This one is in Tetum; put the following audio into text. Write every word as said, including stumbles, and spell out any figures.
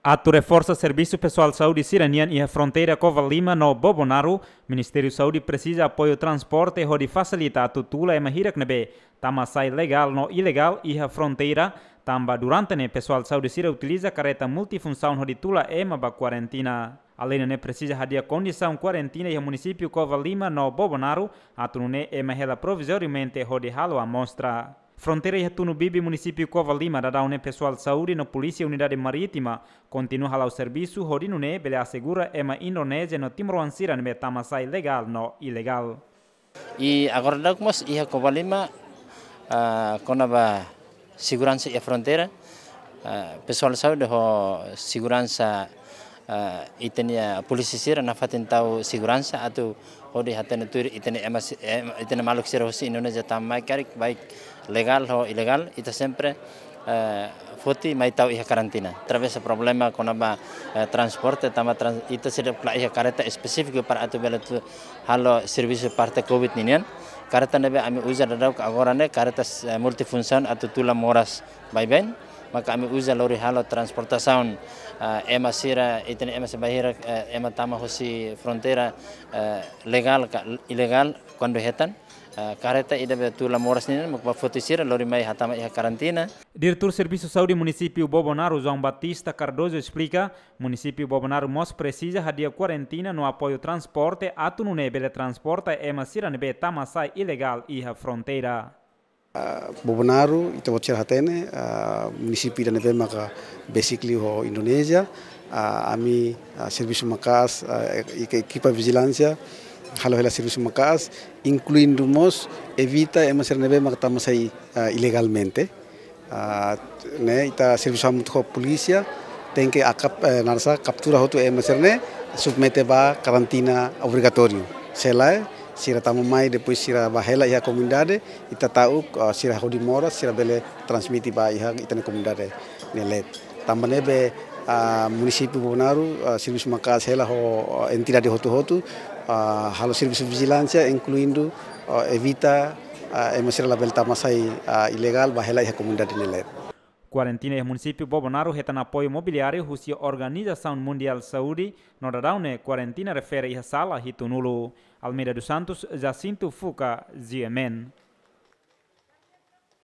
Atu reforsa servisu pesoál saúde sira-nian iha fronteira Covalima no Bobonaro, Ministériu Saúde presiza apoiu transporte hodi fasilita atu tula ema hirak ne'ebé tama sai legál no ilegál iha fronteira, tanba durante ne'e pesoál saúde sira utiliza kareta multifunsaun hodi tula ema ba kuarentina. Alende ne'e presiza hadi'a kondisaun kuarentina iha munisípiu Covalima no Bobonaro, atu nune'e ema hela provizoriamente hodi halo amostra. Fronteira iha tunu bibi munisípiu Covalima, daudaun ne'e pesoál saúde no polísia unidade marítima kontinua hala'o servisu hodi nune'e bele asegura ema Indonézia no timoroan sira ne'ebé tama sai legál no ilegál. I agora daudaun mós iha Covalima, ah, kona-ba seguransa iha fronteira, ah, pesoál saúde ho seguransa, ah, ita-nia polísia sira nafatin tau seguransa atu hodi hatene tuir ita-nia ema si-, ema, ita-nia maluk sira hosi Indonézia tama mai karik, baik legál ho ilegál, ita sempre, eh, foti mai tau iha karantina. Através problema kona-ba, eh, transporte, tanba trans-, ita seidauk la iha kareta espesífiku para atu bele atu halo servisu parte covid ninian. Kareta ne'ebé ami uza daudaun agora ne'e kareta, eh, multifunsaun atu tula moras baibain. Maka ami uza lori halo transportasaun, eh, ema sira, ita-nia ema sira bainhira, eh, ema tama hosi fronteira, eh, legál ka ilegál, kuandu hetan, eh, kareta ida be tula moras ninian, mak ba foti sira lori mai hatama iha karantina. Diretór Servisu Saúde Munisípiu Bobonaro, João Batista Cardoso, esplika, munisípiu Bobonaro mós presiza hadi'a kuarentina no apoiu transporte atu nune'e bele transporta ema sira ne'ebé tama sai ilegál iha fronteira. Ah, Bobonaro, ita-boot sira hatene, ah, munisípiu ida ne'ebé maka besik liu ho Indonézia, ah, ami, ah, servisu maka'as, ah, e-, e-, ekipa vijilánsia halo hela servisu maka'as, inkluindu mós evita ema sira ne'ebé maka tama sai, ah, ilegalmente. Ah, ne'e ita servisu hamutuk ho polísia, tenke akap-, eh, naran sá, kaptura hotu ema sira-ne'e, submete ba karantina obrigatóriu. Se lae, sira tama mai, depois sira bá hela iha komunidade, ita ta'uk, ah, sira hodi moras, sira bele transmite ba iha ita-nia komunidade nia leet. Tanba ne'ebé, ah, munisípiu Bobonaro, ah, servisu maka'as hela ho, ah, entidade hotu-hotu, ah, halo servisu vijilánsia, inkluindu, ah, evita, ah, ema sira labele tama sai, ah, ilegál bá hela iha komunidade nia leet. Kuarentina iha munisípiu Bobonaro hetan apoiu mobiliáriu husi Organizasaun Mundiál Saúde, no daudaun ne'e kuarentina refere iha sala hitunulu. Almeida dos Santos, Jacinto Fuca, G M N.